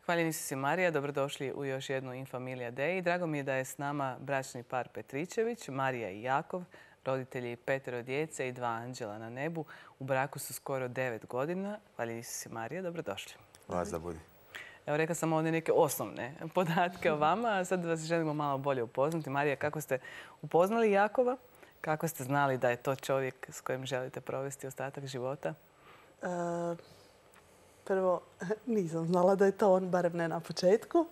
Hvaljeni si Marija, dobrodošli u još jednu Infamilija Dei. Drago mi je da je s nama bračni par Petričević, Marija i Jakov, roditelji 5 djece i 2 anđela na nebu. U braku su skoro 9 godina. Hvaljeni si Marija, dobrodošli. Vas da budi. Evo, rekla sam ovdje neke osnovne podatke o vama, a sad vas želimo malo bolje upoznati. Marija, kako ste upoznali Jakova? Kako ste znali da je to čovjek s kojim želite provesti ostatak života? Prvo, nisam znala da je to on, barem ne na početku.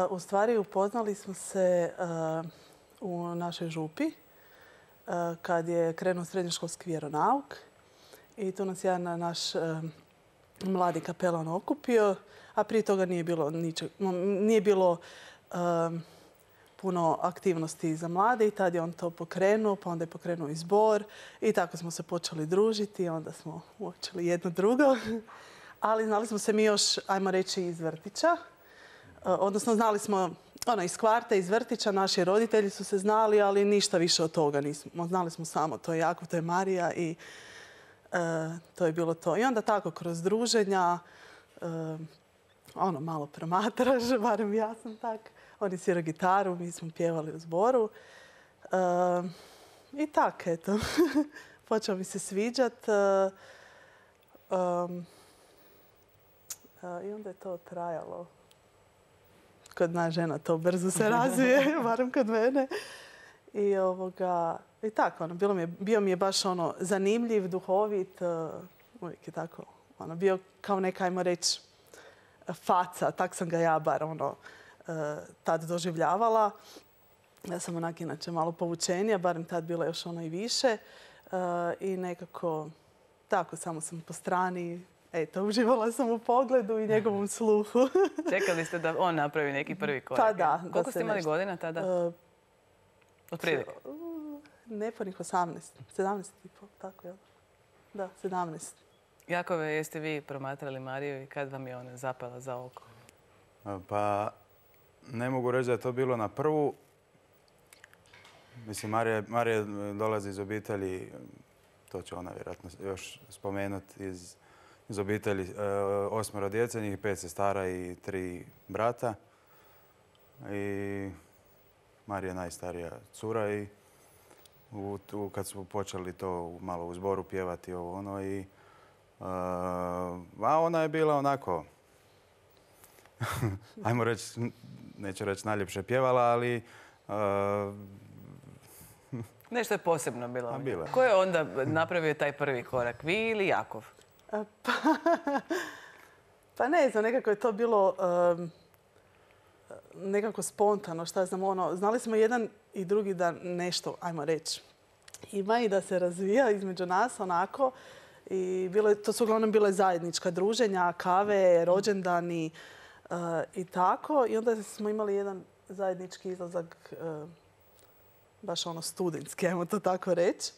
U stvari, upoznali smo se u našoj župi kad je krenuo srednjoškolski vjeronauk. I tu nas jedan naš mladi kapelan okupio, a prije toga nije bilo puno aktivnosti za mlade i tad je on to pokrenuo, pa onda je pokrenuo i zbor i tako smo se počeli družiti, onda smo uočili jedno drugo. Ali znali smo se mi još, ajmo reći, iz vrtića. Odnosno znali smo iz kvarta, iz vrtića, naši roditelji su se znali, ali ništa više od toga nismo. Znali smo samo to je Jakov, to je Marija i to je bilo to. I onda tako kroz druženja, malo promatraš, barem ja sam tak. On je svirao gitaru, mi smo pjevali u zboru. I tak, eto. Počeo mi se sviđat. I onda je to trajalo. Kod nas žena to brzo se razvije, barem kod mene. I tako, bio mi je baš zanimljiv, duhovit. Uvijek je tako, bio kao neka, ajmo reći, faca. Tak sam ga ja bar tad doživljavala. Ja sam onak inače malo povučenija, barem tad bila još i više. I nekako, tako, samo sam po strani, eto, uživala sam u pogledu i njegovom sluhu. Čekali ste da on napravi neki prvi korak? Pa da. Koliko ste imali godina tada? Otprilike? Nepunih 18. 17 i pol, tako je. Da, 17. Jakove, jeste vi promatrali Mariju i kad vam je ona zapala za oko? Pa, ne mogu reći da je to bilo na prvu. Mislim, Marija dolazi iz obitelji, to će ona vjerojatno još spomenuti, iz obitelji 8 djece, njih 5 sestara i 3 brata. I Marija je najstarija cura i kad smo počeli to malo u zboru pjevati a ona je bila onako, ajmo reći, neću reći najljepše pjevala, ali nešto je posebno bilo. Bilo. Ko je onda napravio taj prvi korak, vi ili Jakov? Pa ne znam, nekako je to bilo nekako spontano, šta znam, znali smo jedan i drugi da nešto, ajmo reći, ima i da se razvija između nas onako. I to su uglavnom bile zajednička druženja, kave, rođendani i tako. I onda smo imali jedan zajednički izlazak, baš studentski, ajmo to tako reći.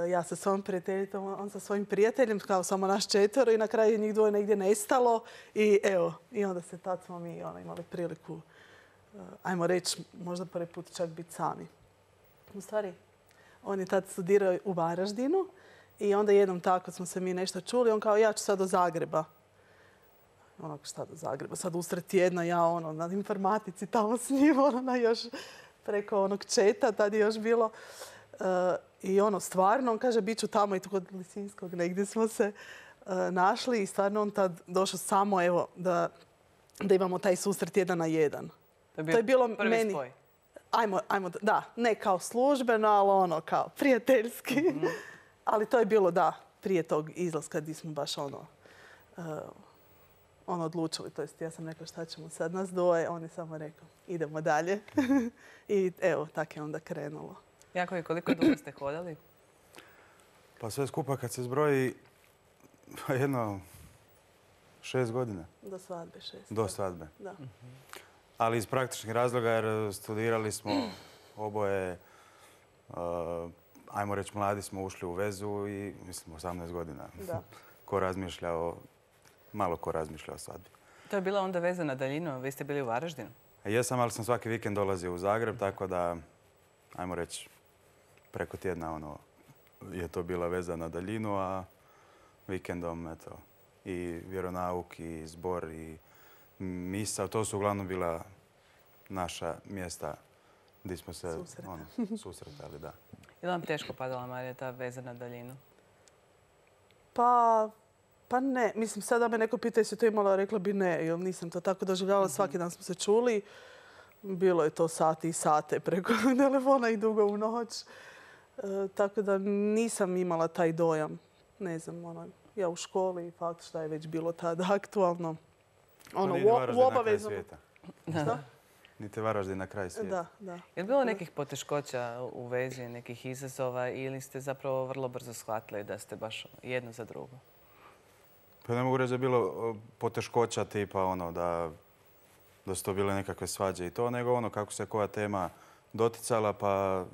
Ja sa svojom prijateljicom, on sa svojim prijateljem, kao samo naš 4 i na kraju njih 2 negdje nestalo. I evo, i onda se tad smo mi imali priliku, ajmo reći, možda prvi put čak biti sami. U stvari, on je tad studirao u Varaždinu. I onda jednom tako smo se mi nešto čuli. On kao, ja ću sad do Zagreba. Onako, šta do Zagreba? Sad usred tjedna ja na informatici tamo s njim, još preko onog četa, tad je još bilo. I stvarno, on kaže, bit ću tamo i tu kod Lisinskog negdje smo se našli. I stvarno on tad došao samo, evo, da imamo taj susret 1 na 1. To je bilo prvi spoj? Ajmo, da, ne kao službeno, ali kao prijateljski. Ali to je bilo, da, prije tog izlaska gdje smo baš odlučili. To jest, ja sam rekla šta ćemo sad nas 2, on je samo rekao idemo dalje. I evo, tako je onda krenulo. Jakov, koliko dugo ste hodali? Pa sve skupa kad se zbroji jedno 6 godina. Do svadbe 6. Do svadbe. Da. Ali iz praktičnih razloga jer studirali smo oboje, ajmo reći, mladi smo ušli u vezu i mislim 18 godina. Da. Malo ko razmišlja o svadbi. To je bila onda veza na daljinu, vi ste bili u Varaždinu? Jesam, ali sam svaki vikend dolazio u Zagreb, tako da, ajmo reći, preko tjedna je to bila veza na daljinu, a vikendom, eto, i vjeronauk, i zbor, i misao. To su uglavnom bila naša mjesta gdje smo se susretali. Da. Je li vam teško padala, Marija, ta veza na daljinu? Pa ne. Mislim, sada me neko pita jesi to imala, rekla bi ne, jer nisam to tako doživljavala. Svaki dan smo se čuli. Bilo je to sati i sate preko telefona i dugo u noć. Tako da nisam imala taj dojam. Ne znam, ja u školi, fakt šta je već bilo tada aktualno. U obaveznom... Niti Varaždin na kraj svijeta. Da. Je li bilo nekih poteškoća u vezi, nekih izazova ili ste zapravo vrlo brzo shvatili da ste baš jedno za drugo? Pa ne mogu reći da je bilo poteškoća tipa da su to bile nekakve svađe i to, nego kako se koja tema doticala, pa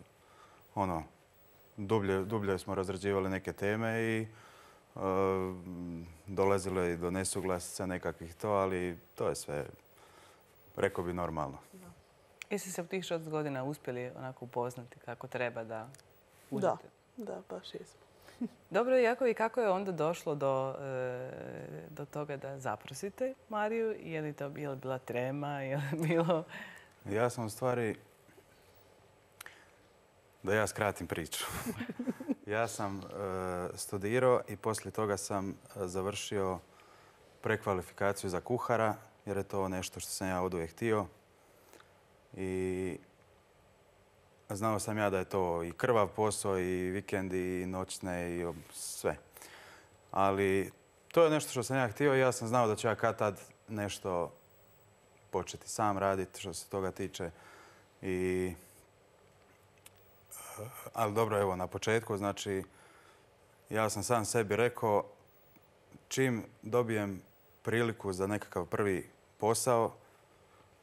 dublje smo razrađivali neke teme i dolazilo je do nesuglasica nekakvih to, ali to je sve, rekao bi, normalno. Jeste se u tih 6 godina uspjeli onako upoznati kako treba da uđete? Da, baš jesmo. Dobro, Jakov, i kako je onda došlo do toga da zaprosite Mariju? Je li bila trema? Je li bilo... Ja sam u stvari, da ja skratim priču. Ja sam studirao i poslije toga sam završio prekvalifikaciju za kuhara, jer je to nešto što sam ja oduvijek htio. I znao sam ja da je to i krvav posao, i vikendi, i noćne, i sve. Ali to je nešto što sam ja htio i ja sam znao da ću ja kad tad nešto početi sam raditi što se toga tiče. Ali dobro, evo, na početku, znači, ja sam sam sebi rekao, čim dobijem priliku za nekakav prvi posao,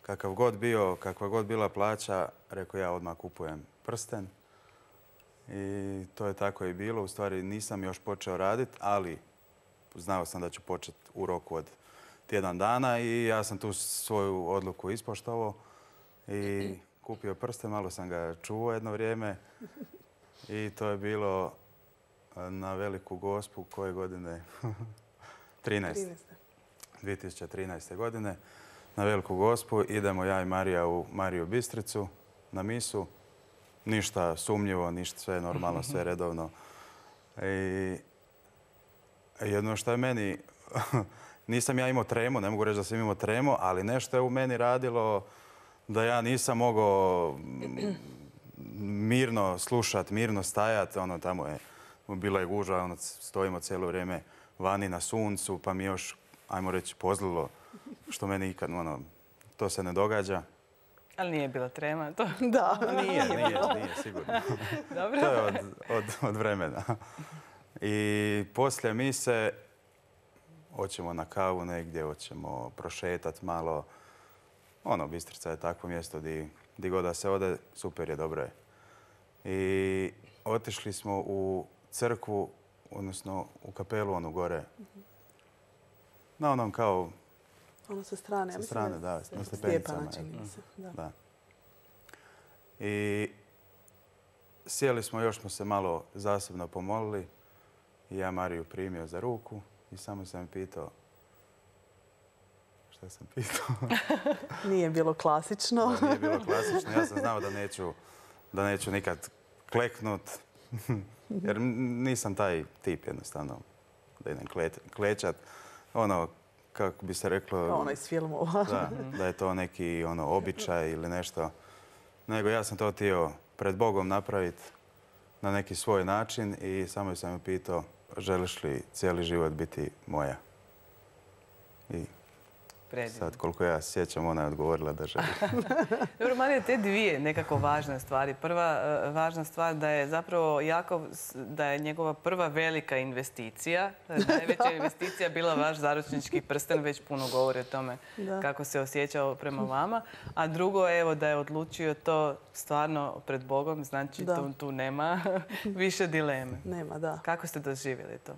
kakav god bio, kakva god bila plaća, rekao ja odmah kupujem prsten. I to je tako i bilo. U stvari nisam još počeo raditi, ali znao sam da ću početi u roku od tjedan dana i ja sam tu svoju odluku ispoštovao i kupio prsten, malo sam ga čuvao jedno vrijeme i to je bilo na Veliku Gospu koje godine? 2013. godine. Na Veliku Gospu idemo ja i Marija u Mariju Bistricu na misu. Ništa sumnjivo, ništa, sve normalno, sve redovno. I jedno što je meni, nisam ja imao tremu, ne mogu reći da sam imao tremu, ali nešto je u meni radilo da ja nisam mogao mirno slušati, mirno stajati. Tamo je bila je gužva, stojimo cijelo vrijeme vani na suncu, pa mi još, ajmo reći, pozlilo, što meni ikad, to se ne događa. Ali nije bila trema, to? Da. Nije sigurno. Dobro. To je od vremena. I poslije mise hoćemo na kavu negdje, hoćemo prošetati malo. Bistrica je takvo mjesto gdje god da se ode, super je, dobro je. I otišli smo u crkvu, odnosno u kapelu gore. Na onom kao... sa strane. Sa strane, da. Na stepenicama. Da. I sjeli smo, još smo se malo zasebno pomolili. I ja Mariju primio za ruku i samo sam pitao... Šta sam pitao? Nije bilo klasično. Da, nije bilo klasično. Ja sam znao da neću nikad kleknut. Jer nisam taj tip jednostavno da idem klečat. Kako bi se reklo... Ono iz filmova. Da je to neki običaj ili nešto. Nego ja sam to htio pred Bogom napraviti na neki svoj način i samo sam ju pitao želiš li cijeli život biti moja? I sad koliko ja sjećam, ona je odgovorila da želi. Dobro, Marija, te dvije nekako važne stvari. Prva važna stvar da je zapravo Jakov, da je njegova prva velika investicija, najveća investicija bila vaš zaručnički prsten, već puno govori o tome kako se osjećao prema vama. A drugo, evo, da je odlučio to stvarno pred Bogom, znači tu nema više dileme. Nema, da. Kako ste doživjeli to?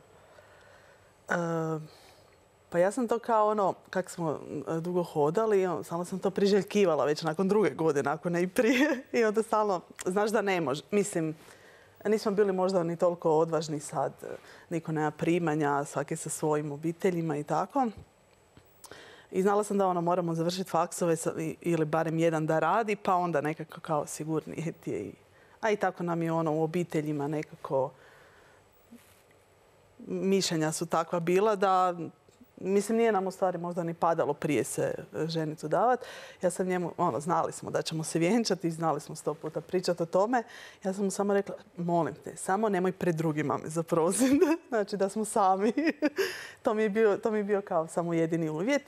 Pa ja sam to kao kako smo dugo hodali, samo sam to priželjkivala već nakon 2. godine, ako ne i prije. I onda stalno, znaš da ne može. Mislim, nismo bili možda ni toliko odvažni sad. Niko nema primanja, svaki sa svojim obiteljima i tako. I znala sam da moramo završiti faksove ili barem jedan da radi, pa onda nekako kao sigurnije ti je. A i tako nam je u obiteljima nekako mišljenja su takva bila da, mislim, nije nam u stvari možda ni padalo prije se ženicu davati. Ja sam njemu, znali smo da ćemo se vjenčati i znali smo 100 puta pričati o tome. Ja sam mu samo rekla, molim te, samo nemoj pred drugima me zaprositi. Znači da smo sami. To mi je bio kao samo jedini uvjet.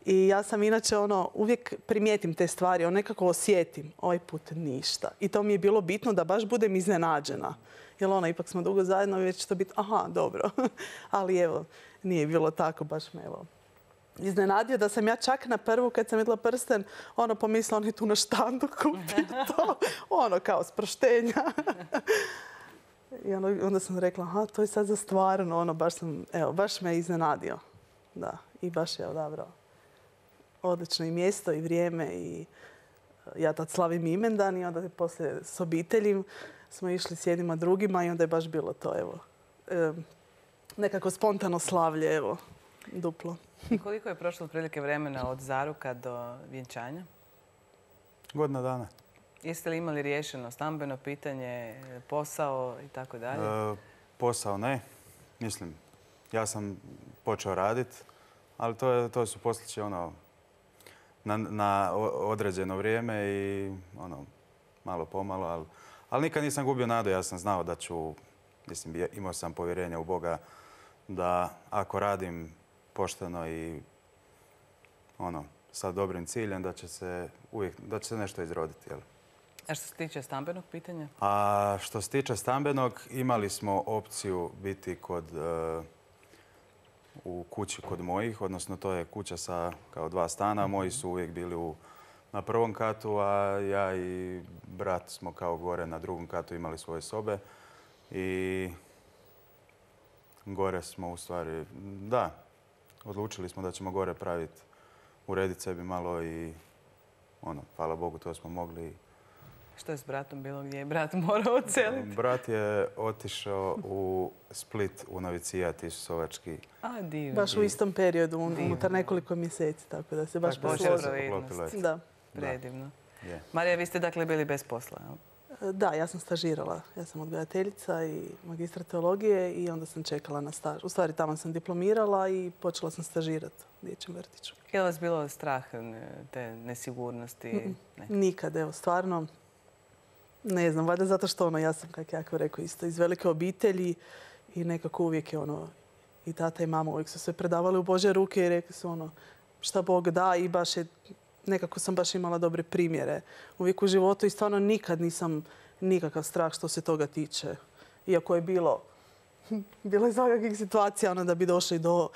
I ja sam inače uvijek primijetim te stvari, nekako osjetim. Ovaj put ništa. I to mi je bilo bitno da baš budem iznenađena. Jer ipak smo dugo zajedno i već će to biti, aha, dobro. Ali evo, nije bilo tako, baš me iznenadio da sam ja čak na prvu, kad sam vidjela prsten, pomislila, on je tu na štandu kupio to. Kao sproštenja. I onda sam rekla, aha, to je sad za stvarno, baš me iznenadio. Da, i baš je odabrao odlično i mjesto i vrijeme i ja tad slavim imendan i onda poslije s obiteljim smo išli s jednima drugima i onda je baš bilo to, nekako spontano slavlje, duplo. Koliko je prošlo otprilike vremena od zaruka do vjenčanja? Godina dana. Jeste li imali riješeno stambeno pitanje, posao i tako dalje? Posao ne. Mislim, ja sam počeo raditi, ali to su posliće na određeno vrijeme i malo pomalo, ali nikad nisam gubio nadu. Ja sam znao da ću, mislim, imao sam povjerenja u Boga da ako radim pošteno i sa dobrim ciljem, da će se nešto izroditi. Jel? A što se tiče stambenog pitanja? A što se tiče stambenog, imali smo opciju biti u kući kod mojih, odnosno to je kuća sa kao 2 stana. Moji su uvijek bili na prvom katu, a ja i brat smo kao gore na drugom katu imali svoje sobe. I gore smo u stvari, da, odlučili smo da ćemo gore urediti sebi malo i hvala Bogu, to smo mogli. Što je s bratom bilo? Gdje je brat morao odseliti? Brat je otišao u Split, u novicijat Isusovački. A, divno. Baš u istom periodu, unutar nekoliko mjeseci, tako da se baš poklopilo. Da. Predivno. Marija, vi ste dakle bili bez posla, jel? Da, ja sam stažirala. Ja sam odgajateljica i magistra teologije i onda sam čekala na staž. U stvari, tamo sam diplomirala i počela sam stažirati u dječjem vrtiću. Je li vas bilo strah te nesigurnosti? Ne. Nikad, stvarno. Ne znam, valjda zato što ja sam, kako jako rekao, isto iz velike obitelji i nekako uvijek je i tata i mama uvijek su se predavali u Božje ruke i rekli su šta Bog da i baš je, nekako sam baš imala dobre primjere uvijek u životu i stvarno nikad nisam nikakav strah što se toga tiče. Iako je bilo je svakakvih situacija da bi došli do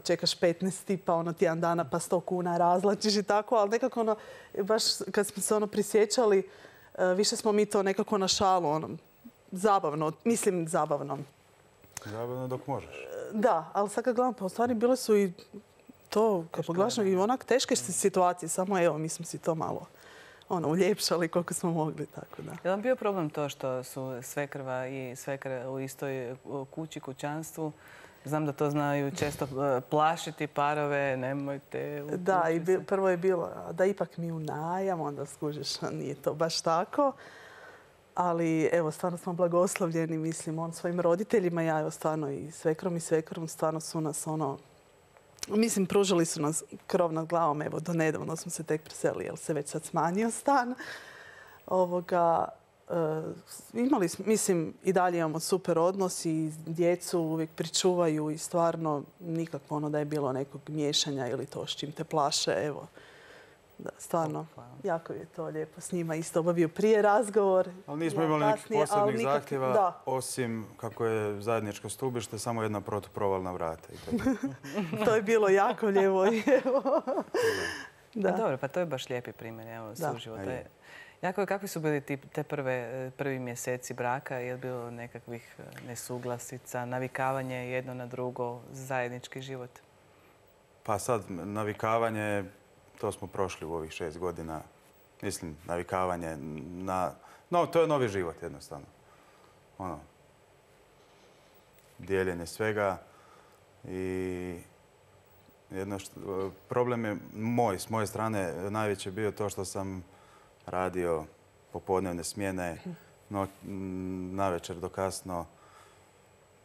čekaš 15 pa tjedan dana pa 100 kuna razlačiš i tako, ali nekako baš kad smo se prisjećali više smo mi to nekako na šalu, zabavno, mislim zabavno. Zabavno dok možeš. Da, ali sad kad gledam, pa u stvari bile su i to, kad pogledaš, i onak teške situacije, samo mi smo si to malo uljepšali koliko smo mogli, tako da. Je li vam bio problem to što su svekrva i svekra u istoj kući, kućanstvu? Znam da to znaju često plašiti parove, nemojte... Da, i prvo je bilo da ipak mi u najam, onda skužiš, nije to baš tako. Ali evo, stvarno smo blagoslovljeni, mislim, svojim roditeljima, ja stvarno i svekrom stvarno su nas mislim, pružili su nas krov nad glavom, evo, do nedavno smo se tek preselili, jer se već sad smanjio stan. Imali smo, mislim, i dalje imamo super odnos i djecu uvijek pričuvaju i stvarno nikakvo da je bilo nekog miješanja ili to s čim te plaše, evo. Da, stvarno, jako je to lijepo s njima isto obavio prije razgovor. Ali nismo imali nekih posebnih zahtjeva, osim kako je zajedničko stubište, samo jedna protuprovalna vrata. To je bilo jako lijepo. Dobro, pa to je baš lijepi primjer, evo, suživota. Jako, kakvi su bili te prvi mjeseci braka? Je li bilo nekakvih nesuglasica, navikavanje jedno na drugo, zajednički život? Pa sad, navikavanje, to smo prošli u ovih 6 godina. Mislim, navikavanje na... No, to je novi život jednostavno. Dijeljenje svega i Problem je s moje strane najveći bio to što sam radio popodnevne smjene, navečer do kasno,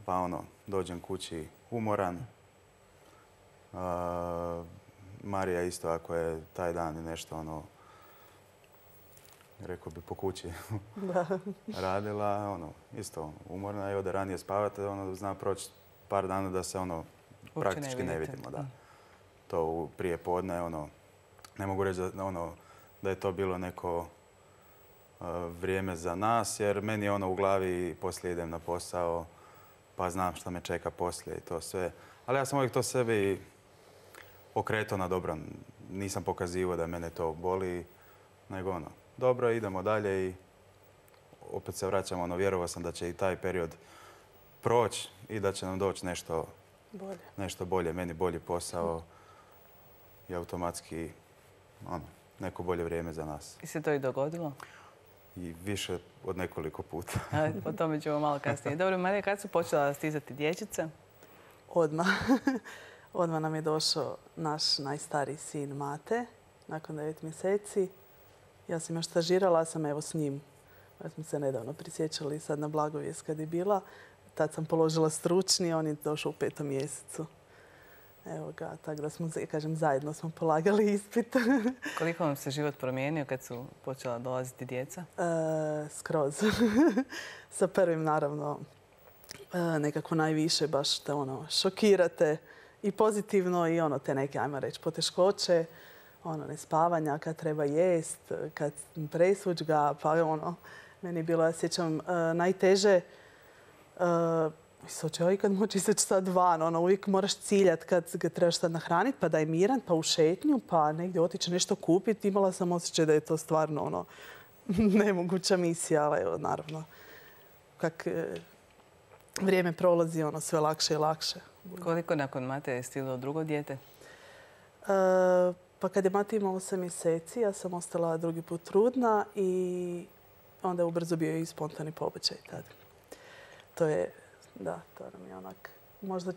pa dođem kući umoran. Marija isto, ako je taj dan nešto, rekao bi po kući radila, isto umorna i ode ranije spavati, zna proći par dana da se praktički ne vidimo. Da. To prije podne, ne mogu reći da je to bilo neko vrijeme za nas, jer meni je u glavi poslije idem na posao, pa znam šta me čeka poslije i to sve. Ali ja sam uvijek to sebi okretao na dobro. Nisam pokazivao da mene to boli, nego dobro, idemo dalje i opet se vraćamo, vjerovao sam da će i taj period proći i da će nam doći nešto bolje, meni bolji posao i automatski neko bolje vrijeme za nas. I se to i dogodilo? I više od nekoliko puta. O tome ćemo malo kasnije. Dobro, Marija, kad su počela stizati dječice? Odmah. Odmah nam je došao naš najstariji sin Mate, nakon 9 mjeseci. Ja sam još stažirala, sam evo s njim. Ja smo se nedavno prisjećali sad na Blagovijest kad je bila. Tad sam položila stručni, on je došao u 5. mjesecu. Evo ga, tako da smo, kažem, zajedno smo polagali ispit. Koliko vam se život promijenio kad su počela dolaziti djeca? Skroz. Sa prvim, naravno, nekako najviše baš te šokirate i pozitivno i te neke, ajmo reći, poteškoće, nespavanja, kad treba jest, kad presuđ ga, pa meni je bilo, ja sjećam, najteže. Hoće ja ikad moći izaći sad van, uvijek moraš ciljati kad ga trebaš sad nahraniti, pa da je miran, pa u šetnju, pa negdje otići nešto kupiti. Imala sam osjećaj da je to stvarno nemoguća misija, ali evo, naravno, kak vrijeme prolazi, sve lakše i lakše. Koliko nakon Mate je stiglo drugo dijete? Pa kad je Mate imao 8 mjeseci, ja sam ostala drugi put trudna i onda je ubrzo bio i spontani pobačaj tada. To je, da, to nam je možda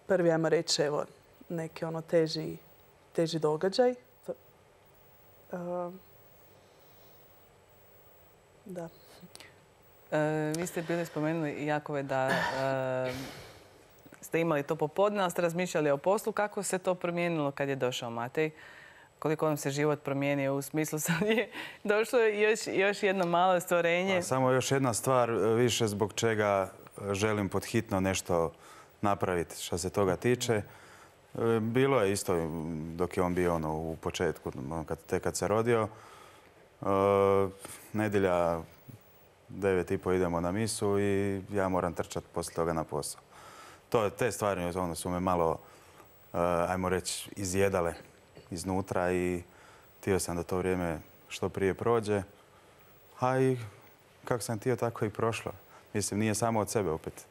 prvi, ajmo reći, evo, neki teži događaj. Da. Vi ste bili spomenuli, Jakove, da ste imali to popodne, ali ste razmišljali o poslu. Kako se to promijenilo kad je došao Matej? Koliko vam se život promijenio u smislu sad je došlo još jedno malo stvorenje? Samo još jedna stvar više zbog čega želim pod hitno nešto napraviti što se toga tiče. Bilo je isto dok je on bio u početku, kad se rodio. Nedjelja 9:30 idemo na misu i ja moram trčati poslije toga na posao. Te stvari su me malo, ajmo reći, izjedale iznutra i htio sam da to vrijeme što prije prođe. A i kako sam htio, tako i prošlo. Mislim, nije samo od sebe opet.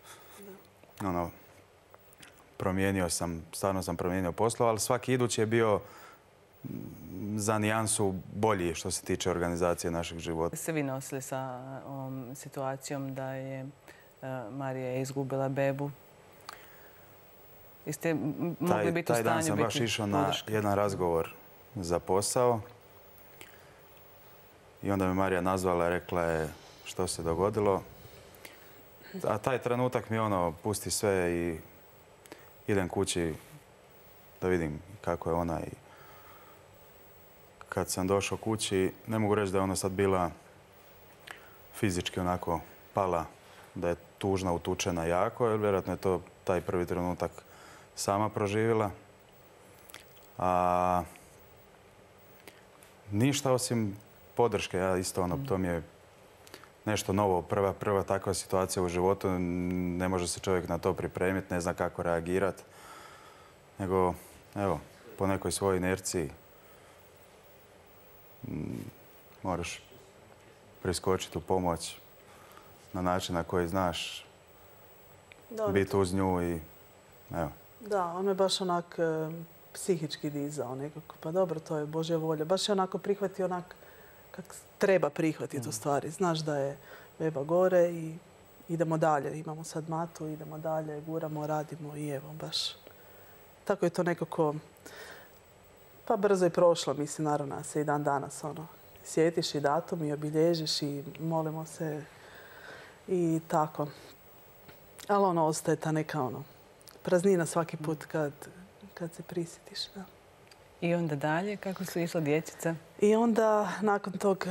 Stvarno sam promijenio posao, ali svaki idući je bio za nijansu bolji što se tiče organizacije našeg života. Ste vi nosili sa ovom situacijom da je Marija izgubila bebu? Jeste mogli biti u stanju biti podrška? Taj dan sam baš išao na jedan razgovor za posao i onda me Marija nazvala i rekla je što se dogodilo. A taj trenutak mi pusti sve i idem kući da vidim kako je ona. I kad sam došao kući, ne mogu reći da je ona sad bila fizički onako pala, da je tužna, utučena jako, jer vjerojatno je to taj prvi trenutak sama proživjela. A ništa osim podrške. Ja isto to mi je nešto novo. Prva takva situacija u životu. Ne može se čovjek na to pripremiti, ne zna kako reagirati. Nego, evo, po nekoj svojoj inerciji moraš priskočiti u pomoć na način na koji znaš, biti uz nju i evo. Da, on me baš onak psihički dizao nekako. Pa dobro, to je Božja volja. Baš je onako prihvatio onak kako treba prihvatiti u stvari. Znaš da je beba gore i idemo dalje. Imamo sad Matu, idemo dalje, guramo, radimo i evo baš tako je to nekako pa brzo je prošlo, mislim, naravno se i dan danas sjetiš i datum i obilježiš i molimo se i tako. Ali ostaje ta neka praznina svaki put kad se prisjetiš. Da. I onda dalje, kako su išla dječica? I onda nakon tog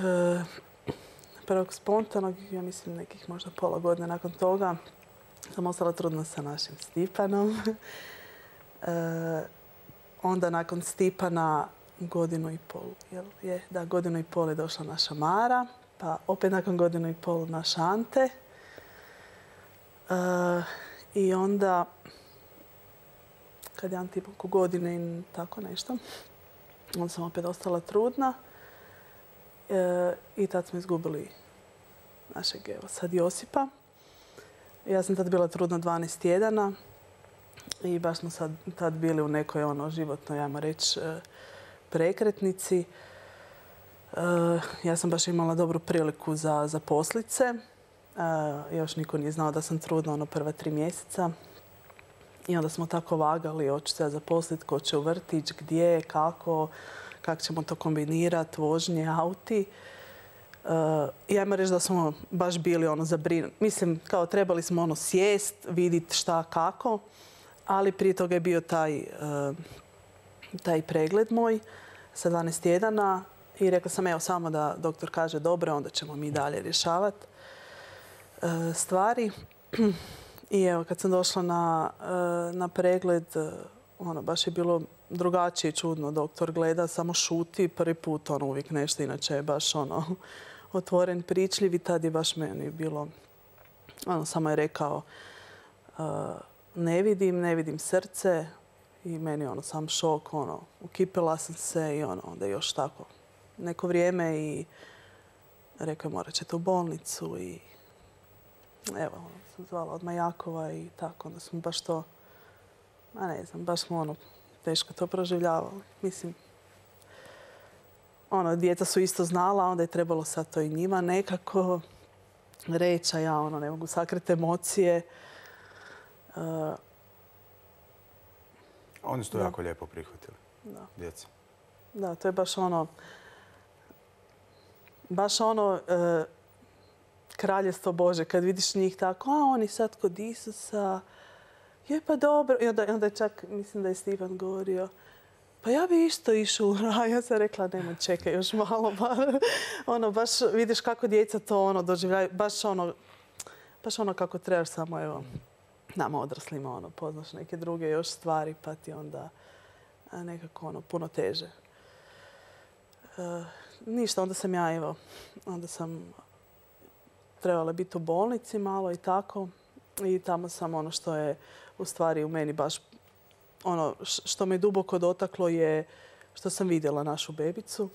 prvog spontanog, ja mislim nekih možda pola godine nakon toga, sam ostala trudna sa našim Stipanom. Onda nakon Stipana godinu i pol je došla naša Mara, pa opet nakon godinu i pol naš Ante. I onda, kad je Ante imao godine i tako nešto, onda sam opet ostala trudna. I tad smo izgubili našeg, evo sad, Josipa. Ja sam tad bila trudna 12 tjedana i baš smo tad bili u nekoj životnoj, ajmo reći, prekretnici. Ja sam baš imala dobru priliku za poslice. Još niko nije znao da sam trudna prva 3 mjeseca. I onda smo tako vagali, hoću se ja zaposliti, ko će u vrtić, gdje, kako ćemo to kombinirati, vožnje, auti. I ajmo reći da smo baš bili zabrinuti. Mislim, kao trebali smo sjest, vidjeti šta, kako, ali prije toga je bio taj pregled moj sa 12 tjedana i rekla sam, evo, samo da doktor kaže dobro, onda ćemo mi dalje rješavati stvari. I evo, kad sam došla na pregled, baš je bilo drugačije i čudno. Doktor gleda, samo šuti, prvi put uvijek nešto, inače je baš otvoren, pričljiv i tad je baš meni bilo, samo je rekao ne vidim srce i meni sam šok, ukipila sam se i onda još tako neko vrijeme i rekao je morat ćete u bolnicu i evo, sam zvala odmah Jakova i tako, onda smo baš to, ne znam, baš smo teško to proživljavali. Mislim, djeca su isto znala, onda je trebalo sad to i njima nekako reći, a ja ne mogu sakriti emocije. Oni su to jako lijepo prihvatili, djeca. Da, to je baš kraljestvo Bože, kad vidiš njih tako, oni sad kod Isusa, je pa dobro. I onda je čak, mislim da je Stipan govorio, pa ja bi isto išao u raj. Ja sam rekla, nemoj, čekaj još malo. Baš vidiš kako djeca to doživljaju. Baš kako trebaš, samo evo, nama odraslima poznaš neke druge još stvari, pa ti onda nekako puno teže. Ništa, onda sam ja, evo, onda sam trebala biti u bolnici malo i tako. I tamo sam što je u stvari u meni baš što me duboko dotaklo je što sam vidjela našu bebicu.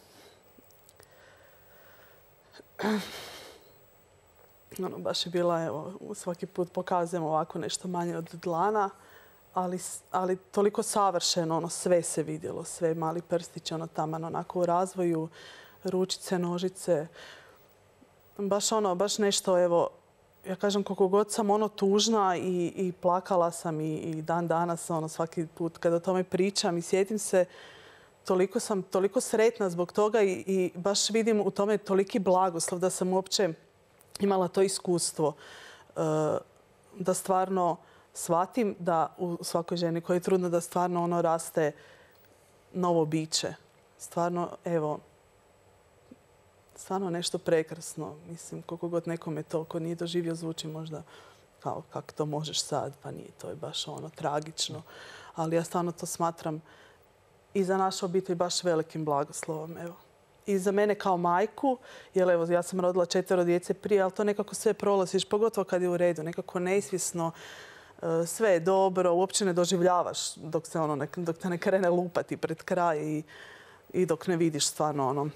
Baš je bila, evo, svaki put pokazujem ovako nešto manje od dlana, ali toliko savršeno, sve se vidjelo, sve mali prstići, taman onako u razvoju, ručice, nožice. Baš nešto, evo, ja kažem, koliko god sam tužna i plakala sam i dan danas svaki put kada o tome pričam i sjetim se, sam toliko sretna zbog toga i baš vidim u tome toliki blagoslov da sam uopće imala to iskustvo. Da stvarno shvatim da u svakoj ženi koja je trudna da stvarno raste novo biće. Stvarno, evo, stvarno nešto prekrasno. Mislim, koliko god nekome to ko nije doživio zvuči možda kao kako to možeš sad, pa nije, to je baš tragično. Ali ja stvarno to smatram i za našu obitelj baš velikim blagoslovom. Evo. I za mene kao majku, jer evo, ja sam rodila 4 djece prije, ali to nekako sve prolaziš, pogotovo kad je u redu, nekako nesvjesno, sve je dobro, uopće ne doživljavaš dok te ne krene lupati pred kraj i dok ne vidiš stvarno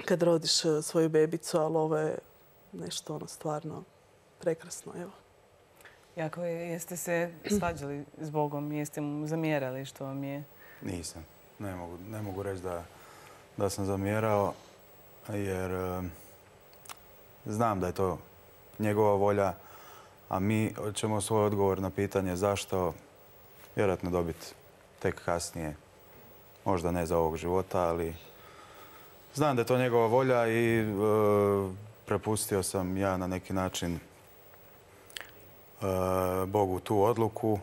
kad rodiš svoju bebicu, ali ovo je nešto stvarno prekrasno. Evo. Jako, jeste se svađali s Bogom? Jeste mu zamjerali što vam je? Nisam. Ne mogu reći da sam zamjerao, jer znam da je to njegova volja, a mi ćemo svoj odgovor na pitanje zašto vjerojatno dobiti tek kasnije. Možda ne za ovog života, ali znam da je to njegova volja i prepustio sam ja na neki način Bogu tu odluku.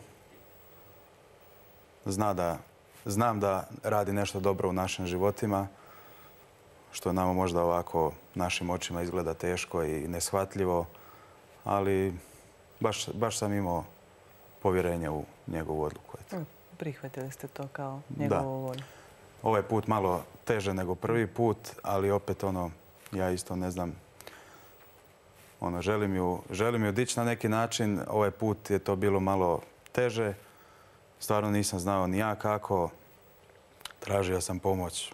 Znam da radi nešto dobro u našim životima, što nama možda ovako našim očima izgleda teško i neshvatljivo, ali baš sam imao povjerenje u njegovu odluku. Prihvatili ste to kao njegovu volju. Ovaj put malo teže nego prvi put, ali opet ja isto ne znam, želim ju dići na neki način. Ovaj put je to bilo malo teže. Stvarno nisam znao ni ja kako. Tražio sam pomoć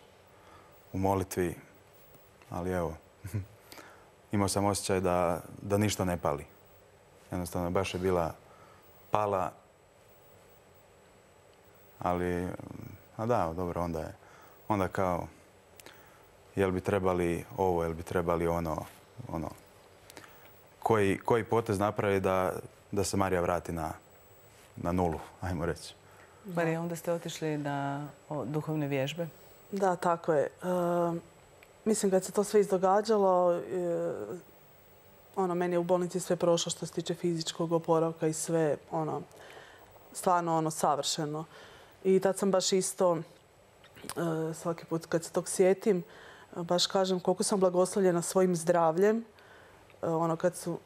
u molitvi, ali evo, imao sam osjećaj da ništa ne pali. Jednostavno, baš je bila pala, ali, dobro, onda kao, jel bi trebali ovo, jel bi trebali ono, koji potez napravi da se Marija vrati na nulu, ajmo reći. Marija, onda ste otišli na duhovne vježbe? Da, tako je. Mislim, kad se to sve izdogađalo, meni je u bolnici sve prošlo što se tiče fizičkog oporavka i sve, stvarno savršeno. I tad sam baš isto, svaki put kad se tog sjetim, baš kažem koliko sam blagoslovljena svojim zdravljem.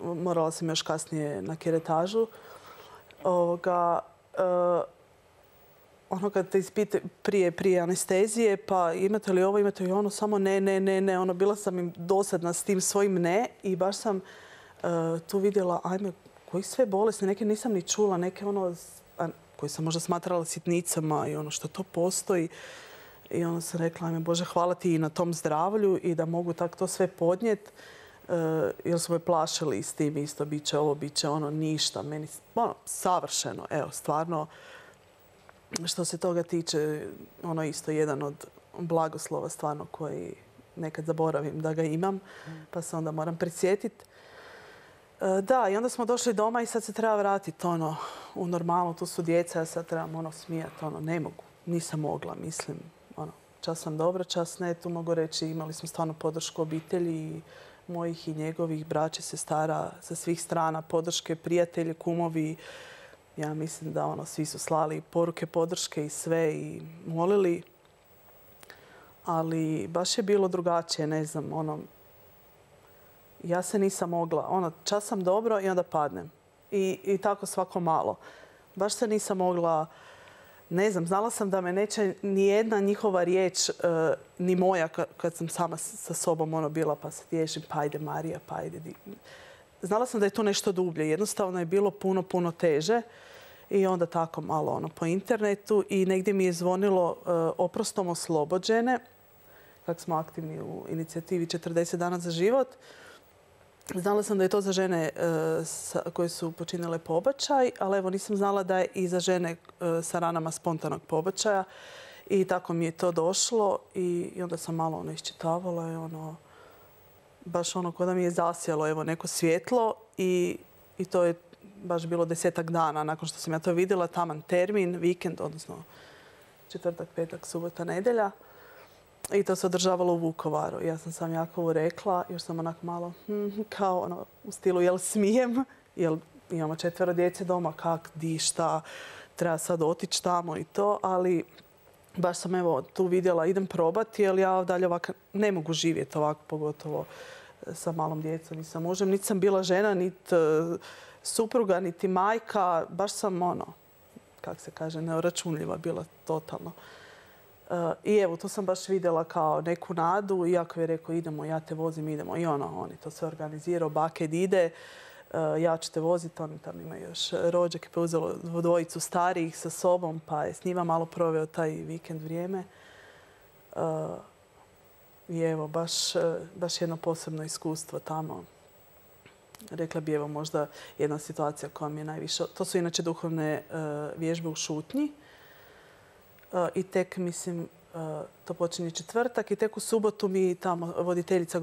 Morala sam još kasnije na keretažu. Kad te ispite prije anestezije, pa imate li ovo, imate li ono, samo ne. Bila sam im dosadna s tim svojim ne i baš sam tu vidjela, koji sve bolesti, neke nisam ni čula, neke koje sam možda smatrala sitnicama i što to postoji. I onda sam rekla, Bože, hvala ti i na tom zdravlju i da mogu tako to sve podnijeti. Jer su me plašili s tim isto, bit će ovo, bit će ono, ništa. Meni, savršeno, evo, stvarno. Što se toga tiče, isto jedan od blagoslova stvarno koji nekad zaboravim da ga imam, pa se onda moram prisjetiti. Da, i onda smo došli doma i sad se treba vratiti u normalu. Tu su djeca, ja sad trebam smijati, ne mogu. Nisam mogla, mislim. Čas sam dobra, čas ne. Tu mogu reći, imali smo stvarno podršku obitelji mojih i njegovih, braće, sestara sa svih strana, podrške, prijatelji, kumovi. Ja mislim da svi su slali poruke podrške i sve i molili. Ali baš je bilo drugačije, ne znam, ja se nisam mogla, čas sam dobro i onda padnem. I tako svako malo. Baš se nisam mogla, ne znam, znala sam da me neće ni jedna njihova riječ, ni moja kad sam sama sa sobom bila pa se tješim, pa ajde Marija, pa ajde. Znala sam da je to nešto dublje. Jednostavno je bilo puno teže. I onda tako malo po internetu i negdje mi je zvonilo oprostom oslobođene, kako smo aktivni u inicijativi 40 dana za život. Znala sam da je to za žene koje su počinile pobačaj, ali evo nisam znala da je i za žene sa ranama spontanog pobačaja. I tako mi je to došlo i onda sam malo iščitavala i baš kao da mi je zasjelo neko svjetlo i to je baš bilo 10-ak dana nakon što sam ja to vidjela, taman termin, vikend, odnosno četvrtak, petak, subota, nedjelja. I to se održavalo u Vukovaru. Ja sam sam Jakovu rekla, još sam onako malo kao u stilu jel smijem, jel imamo 4 djece doma, kak, di, šta, treba sad otići tamo i to, ali baš sam tu vidjela, idem probati, jer ja dalje ovako ne mogu živjeti ovako, pogotovo sa malom djecom i sa mužem. Niti sam bila žena, niti supruga, niti majka. Baš sam kako se kaže, neuračunljiva bila totalno. I evo, tu sam baš vidjela kao neku nadu. Iako je rekao, idemo, ja te vozim, idemo. I on je to sve organizirao, baked ide, ja ću te voziti. Oni tam imaju još rođak, pa uzelo 2 starijih sa sobom, pa je s njima malo proveo taj vikend vrijeme. I evo, baš jedno posebno iskustvo tamo. Rekla bi, evo, možda jedna situacija koja mi je najviše... To su inače duhovne vježbe u šutnji. I tek, mislim, to počinje četvrtak i tek u subotu mi tamo voditeljica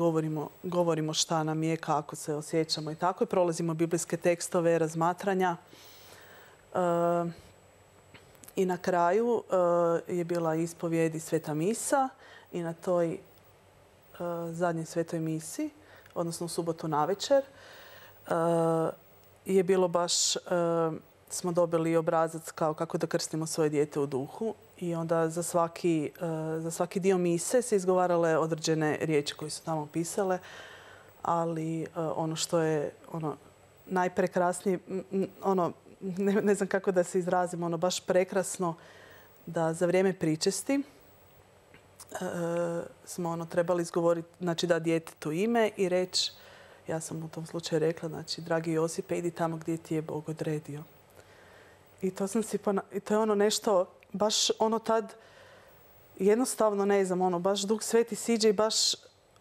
govorimo šta nam je, kako se osjećamo i tako. I prolazimo biblijske tekstove, razmatranja. I na kraju je bila ispovijed i sveta misa i na toj zadnjoj svetoj misi, odnosno u subotu navečer, je bilo baš, smo dobili obrazac kao kako da krstimo svoje dijete u duhu i onda za svaki dio mise se izgovarale određene riječi koje su tamo pisale, ali ono što je najprekrasnije, ne znam kako da se izrazim, baš prekrasno da za vrijeme pričesti smo trebali izgovoriti, znači da djetetu ime i reći, ja sam u tom slučaju rekla, znači, dragi Josipe, idi tamo gdje ti je Bog odredio. I to sam si i to je nešto, baš tad, jednostavno ne znam, baš Duh Sveti siđe i baš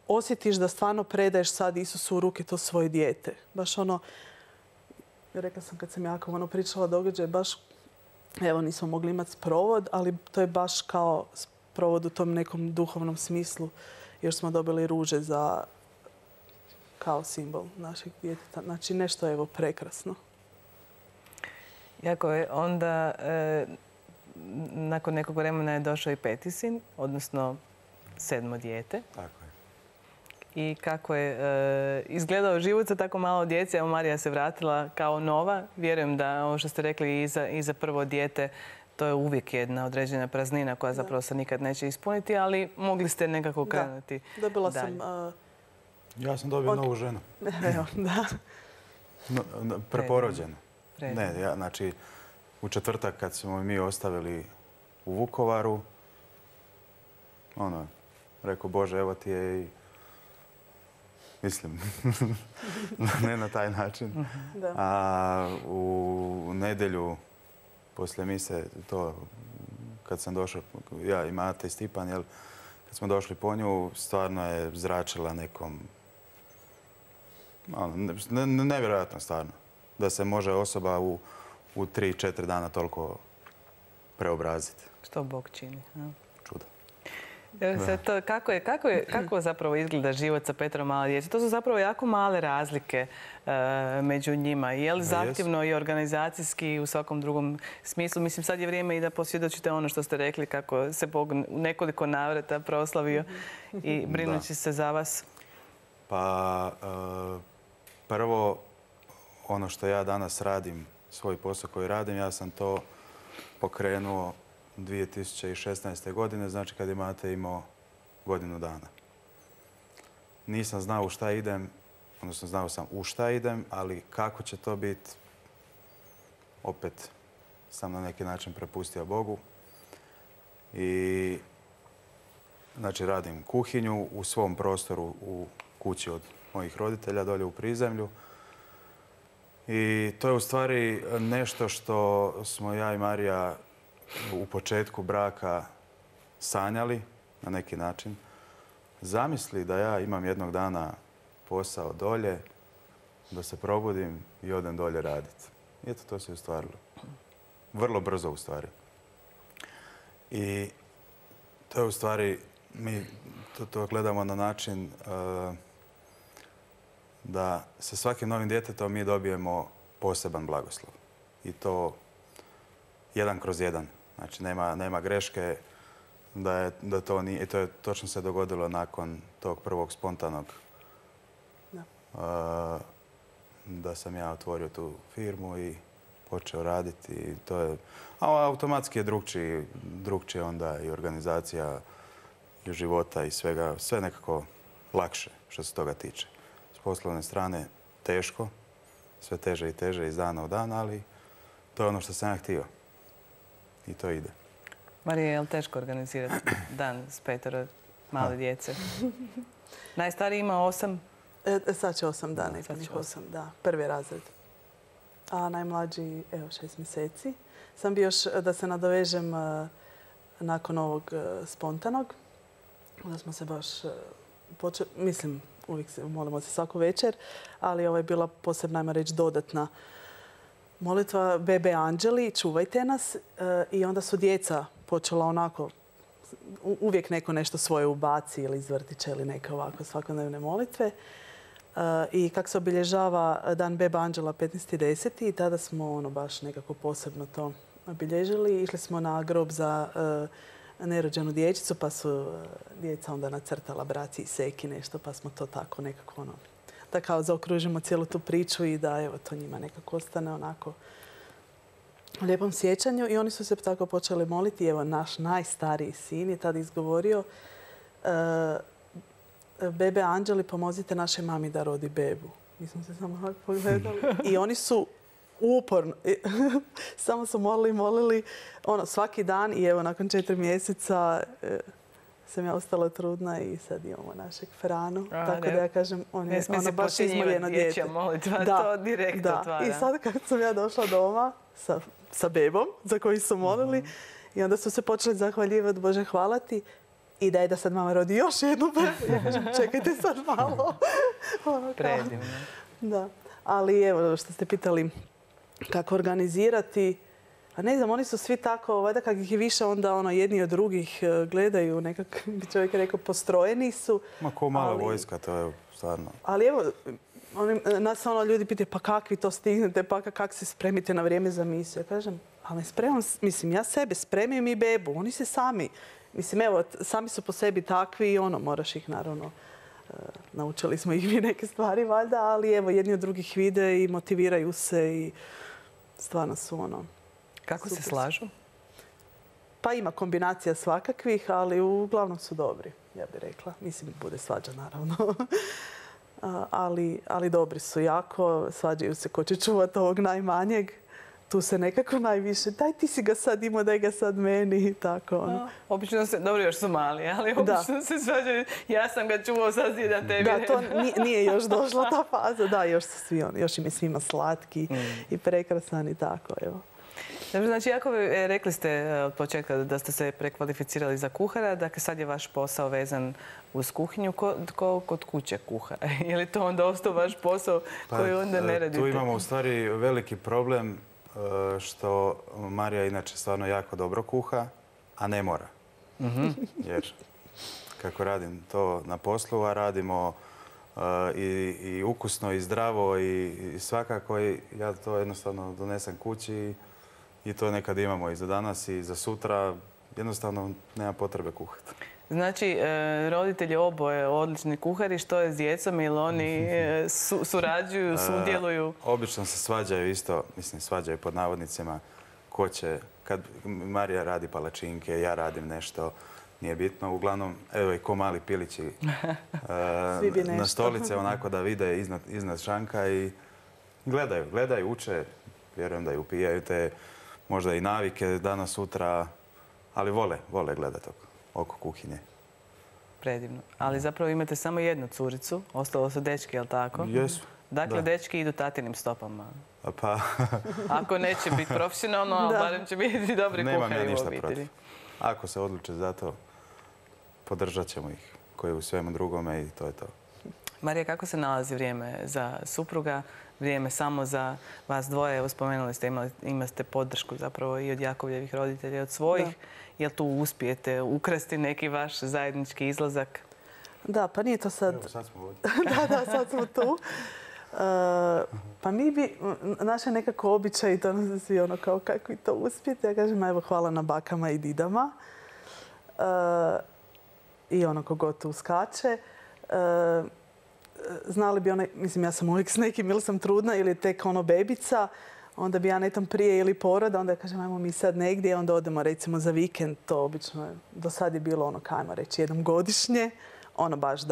osjetiš da stvarno predaješ sad Isusu u ruke to svoje dijete. Baš rekla sam kad sam jako pričala događaj, baš, evo nismo mogli imati sprovod, ali to je baš kao sprovod u tom nekom duhovnom smislu, jer smo dobili ruže kao simbol našeg djeteta. Znači nešto je prekrasno. Jako je. Onda nakon nekog vremena je došao i 5. sin, odnosno 7. dijete. Tako je. I kako je izgledao život sa tako malo djece. Evo, Marija se vratila kao nova. Vjerujem da ovo što ste rekli i za prvo dijete, to je uvijek jedna određena praznina koja zapravo se nikad neće ispuniti, ali mogli ste nekako krenuti dalje. Dobila sam... Ja sam dobio novu ženu. Evo, da. Preporođenu. Ne, znači, u četvrtak kad smo mi ostavili u Vukovaru, rekao, Bože, evo ti je i... Mislim, ne na taj način. A u nedjelju poslije mise, to kad sam došao, ja i Mate i Stipan, kad smo došli po nju, stvarno je zračila nekom... Nevjerojatno stvarno. Da se može osoba u 3-4 dana toliko preobraziti. Što Bog čini. Čudo. Kako zapravo izgleda život sa 5 mala djece? To su zapravo jako male razlike među njima. Je li zahtjevno i organizacijski i u svakom drugom smislu? Mislim, sad je vrijeme i da posvjedočite ono što ste rekli, kako se Bog u nekoliko navrata proslavio i brinući se za vas. Pa prvo, ono što ja danas radim, svoj posao koji radim, ja sam to pokrenuo 2016. godine, znači kad je Mate imao godinu dana. Nisam znao u šta idem, odnosno znao sam u šta idem, ali kako će to biti, opet sam na neki način prepustio Bogu. I znači radim kuhinju u svom prostoru u kući od mojih roditelja dolje u prizemlju. I to je u stvari nešto što smo ja i Marija u početku braka sanjali na neki način. Zamisli da ja imam jednog dana posao dolje, da se probudim i odem dolje raditi. I eto, to se ostvarilo. Vrlo brzo u stvari. I to je u stvari, mi to gledamo na način da sa svakim novim djetetom mi dobijemo poseban blagoslov. I to 1/1. Znači, nema greške da to nije. I to je točno se dogodilo nakon tog prvog spontanog da sam ja otvorio tu firmu i počeo raditi. I to je, automatski je drugčije onda i organizacija i života i svega. Sve nekako lakše što se toga tiče. S poslovne strane teško, sve teže i teže iz dana u dan, ali to je ono što sam ja htio. I to ide. Marija, je li teško organizirati dan s 5 male djece? Najstariji ima 8? Sad će 8 dana, nepunih 8, da. Prvi razred. A najmlađi, evo, 6 mjeseci. Sam bi još da se nadovežem nakon ovog spontanog. Onda smo se baš počeli, mislim, uvijek molimo se svaku večer, ali ovo je bila posebna, ajmo reći, dodatna molitva Bebe Anđeli, čuvajte nas. I onda su djeca počela onako, uvijek neko nešto svoje ubaci ili iz vrtića ili neke ovako svakodnevne molitve. I kako se obilježava dan Bebe Anđela 15.10. i tada smo baš nekako posebno to obilježili. Išli smo na grob za nerođenu dječicu, pa su djeca onda nacrtala braci i seki nešto, pa smo to tako nekako da kao zaokružimo cijelu tu priču i da evo to njima nekako ostane onako u lijepom sjećanju. I oni su se tako počeli moliti. Evo, naš najstariji sin je tada izgovorio: bebe anđeli, pomozite našoj mami da rodi bebu. Mi smo se samo ovako pogledali. I oni su uporno, samo su molili svaki dan. I evo, nakon 4 mjeseca sam ja ostala trudna i sad imamo našeg Franu. Tako da ja kažem, on je baš izmoljeno dijete. Molitva, to direktno otvara. I sad kad sam ja došla doma sa bebom za koju su molili, i onda su se počeli zahvaljivati: Bože, hvala ti. I daj da sad mama rodi još jednu bebu. Ja kažem, čekajte sad malo. Predivno. Da. Ali evo, što ste pitali kako organizirati, a ne znam, oni su svi tako, valjda kak ih je više, onda jedni od drugih gledaju, nekak bi čovjek rekao, postrojeni su. Ma ko mala vojska, to je stvarno. Ali evo, nas ljudi pitaju: pa kak vi to stignete, pa kak se spremite na vrijeme za misiju? Ja kažem, ali spremam, mislim, ja sebe spremim i bebu, oni se sami. Mislim, evo, sami su po sebi takvi i moraš ih naravno, naučili smo ih mi neke stvari valjda, ali evo, jedni od drugih vide i motiviraju se i stvarno su Kako se slažu? Pa ima kombinacija svakakvih, ali uglavnom su dobri, ja bih rekla. Mislim, bude svađa naravno. Ali dobri su jako, svađaju se ko će čuvati ovog najmanjeg. Tu se nekako najviše, daj ti si ga sad imao, daj ga sad meni i tako. Obično se, dobro još su mali, ali obično se svađaju, ja sam ga čuvao, sad zidam tebi. Da, to nije još došla ta faza, da, još su svi još im je svima slatki i prekrasan i tako, evo. Dobro, znači, rekli ste od početka da ste se prekvalificirali za kuhara, dakle sad je vaš posao vezan uz kuhinju. Ko kod kuće kuha? Je li to onda ostao vaš posao koji onda ne radite? Tu imamo u stvari veliki problem što Marija inače stvarno jako dobro kuha, a ne mora. Jer kako radim to na poslu, a radimo i ukusno i zdravo i svakako, ja to jednostavno donesem kući i to nekad imamo i za danas i za sutra. Jednostavno nema potrebe kuhati. Znači, roditelji oboje odlični kuhari, što je s djecom ili oni surađuju, sudjeluju? Obično se svađaju isto, mislim svađaju pod navodnicima, ko će, kad Marija radi palačinke, ja radim nešto, nije bitno. Uglavnom, evo i ko mali pilići na stolice onako da vide iznad šanka i gledaju, uče, vjerujem da i upijaju te možda i navike danas, sutra, ali vole gledati oko kuhinje. Predivno. Ali zapravo imate samo jednu curicu, ostalo su dečki, je li tako? Jesu. Dakle, dečki idu tatinim stopama. Pa... Ako neće biti profesionalno, ali barem će biti dobri kuhari u obitelji. Nemam ja ništa protiv. Ako se odluče za to, podržat ćemo ih, koji u svemu drugome i to je to. Marija, kako se nalazi vrijeme za supruga, vrijeme samo za vas dvoje? Evo, spomenuli ste, imate podršku zapravo i od Jakovljevih roditelja i od svojih. Jel tu uspijete ukrasti neki vaš zajednički izlazak? Da, pa nije to sad... Evo, sad smo ovdje. Da, sad smo tu. Pa mi bi, naše nekako običaj, to nas svi kao kako vi to uspijete. Ja kažem, evo, hvala na bakama i didama. I kogod tu skače. Znali bi mislim, ja sam uvijek s nekim, ili sam trudna ili tek bebica, onda bi ja netom prije ili poroda, onda ja kažem, ajmo mi sad negdje, onda odemo recimo za vikend, to obično do sad je bilo ajmo reći, jednom godišnje, baš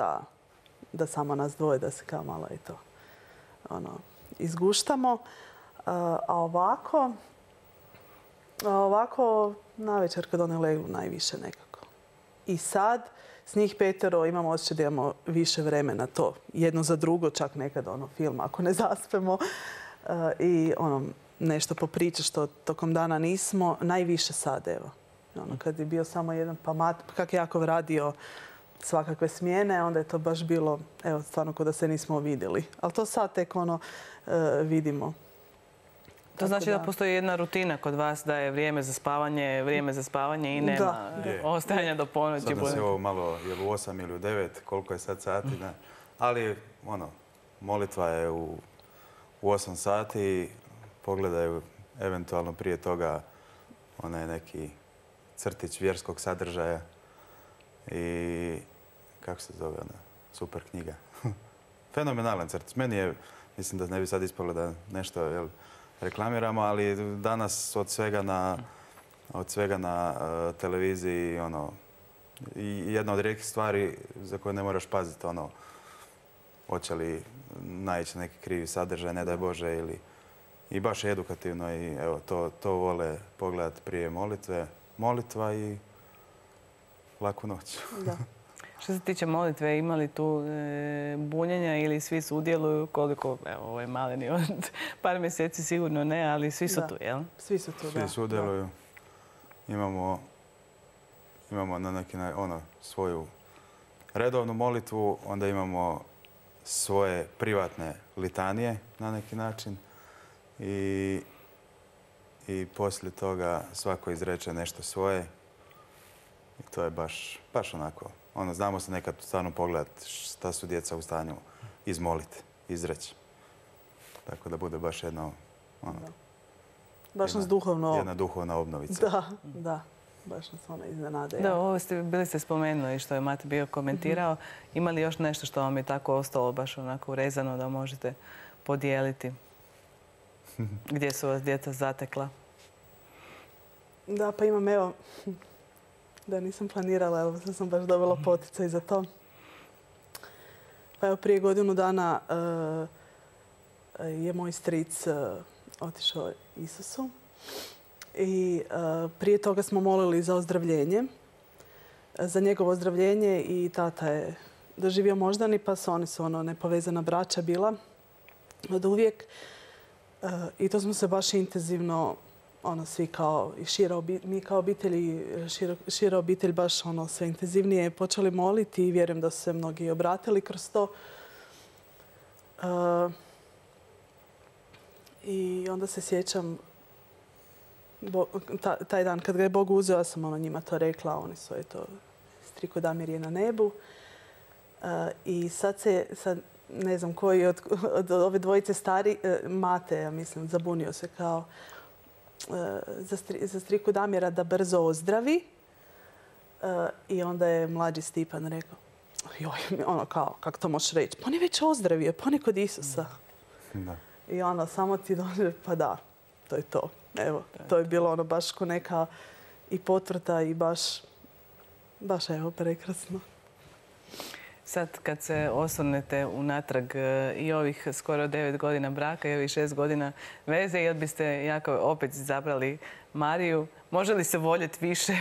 da samo nas dvoje, da se kao malo i to izguštamo. A ovako, navečer kad one legnu najviše nekako. I sad, s njih 5 imamo osjećaj da imamo više vremena to. Jedno za drugo, čak nekad film, ako ne zaspemo. I nešto popriče što tokom dana nismo. Najviše sad, evo. Kad je bio samo jedan kak je Jakov radio svakakve smjene, onda je to baš bilo, evo, stvarno kao da se nismo vidjeli. Ali to sad tek vidimo. To znači da postoji jedna rutina kod vas, da je vrijeme za spavanje i nema ostajanja do ponoći. Sad nas je ovo malo, je u 8 ili u 9, koliko je sad sati. Ali, molitva je u 8 sati, pogledaju eventualno prije toga onaj neki crtić vjerskog sadržaja i kako se zove ona, super knjiga. Fenomenalan crtić. Meni je, mislim da ne bi sad ispalo da nešto reklamiramo, ali danas od svega na televiziji, i jedna od rijetkih stvari za koje ne moraš paziti, hoće li naići neki krivi sadržaj, ne daj Bože, i baš je edukativno i evo, to vole pogledati prije molitve. Molitva i laku noć. Da. Što se tiče molitve, ima li tu bunjenja ili svi sudjeluju? Koliko, evo, ovo je maleni od par mjeseci sigurno ne, ali svi su tu, jel? Svi su tu, da. Svi sudjeluju. Imamo na neki svoju redovnu molitvu, onda imamo svoje privatne litanije na neki način i poslije toga svako izreče nešto svoje i to je baš onako. Znamo se nekad stvarno pogledati šta su djeca u stanju izmoliti, izreći. Tako da bude baš jedna duhovna obnovica. Da. Baš nas ona iznenade. Da, ovo bili ste spomenuli što je Mate bio komentirao. Ima li još nešto što vam je tako ostalo baš onako urezano da možete podijeliti? Gdje su vas djeca zatekla? Da, pa imam, evo, da nisam planirala, evo, sad sam baš dobila poticaj za to. Pa evo, prije godinu dana je moj stric otišao Isusu. I prije toga smo molili za ozdravljenje, za njegovo ozdravljenje i tata je doživio moždani, pa oni su nepovezana braća bila od uvijek. I to smo se baš intenzivno, svi kao i mi kao obitelji, šira obitelj baš sve intenzivnije počeli moliti i vjerujem da su se mnogi obratili kroz to. I onda se sjećam taj dan kad ga je Bog uzeo, ja sam njima to rekla, oni su, striko Damir je na nebu. I sad ne znam koji od ove dvojice stari, Mate, ja mislim, zabunio se kao za striku Damira da brzo ozdravi. I onda je mlađi Stipan rekao, joj, kako to možeš reći? Pa on je već ozdravio, pa on je kod Isusa. Da. I samo ti dođe, pa da, to je to. Evo, to je bilo baš ko neka i potvrda i baš evo, prekrasno. Sad kad se osvrnete unatrag i ovih skoro 9 godina braka i ovih 6 godina veze, jel biste jako opet izabrali Mariju? Može li se voljeti više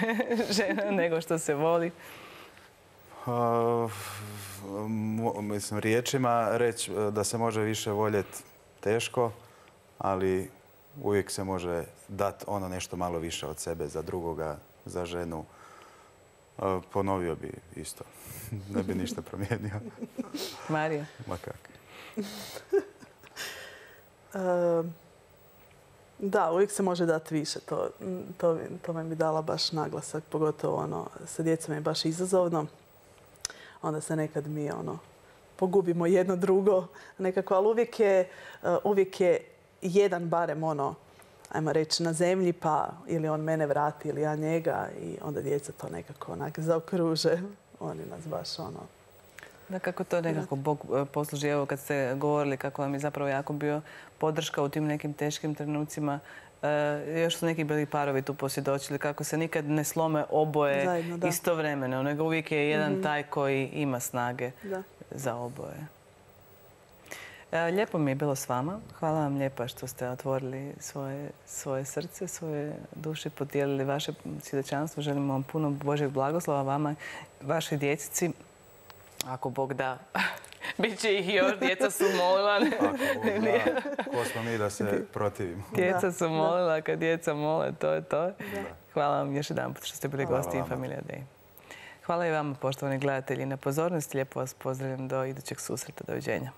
žena nego što se voli? Mislim, riječima reći da se može više voljeti teško, ali uvijek se može dati nešto malo više od sebe za drugoga, za ženu. Ponovio bi isto. Ne bi ništa promijenio. Marija? Ma kak. Da, uvijek se može dati više. To me bi dala baš naglasak. Pogotovo sa djecom je baš izazovno. Onda se nekad mi pogubimo jedno drugo nekako. Ali uvijek je jedan barem ajmo reći, na zemlji, pa ili on mene vrati ili ja njega i onda djeca to nekako zaokruže. Oni nas baš Da, kako to nekako Bog posluži. Evo kad ste govorili kako vam je zapravo jako bio podrška u tim nekim teškim trenucima. Još su neki bili parovi tu posvjedočili kako se nikad ne slome oboje zajedno, istovremeno, nego uvijek je jedan taj koji ima snage za oboje. Lijepo mi je bilo s vama. Hvala vam lijepa što ste otvorili svoje srce, svoje duše, podijelili vaše svjedočanstvo. Želimo vam puno Božjeg blagoslova vama, vašoj djecici. Ako Bog da, bit će ih još. Djeca su molila. Ako Bog da, ko smo mi da se protivimo. Djeca su molila, kad djeca mole, to je to. Hvala vam još jedan put što ste bili gosti Infamilija Day. Hvala i vama, poštovani gledatelji, na pozornosti. Lijepo vas pozdravljam do idućeg susreta. Doviđenja.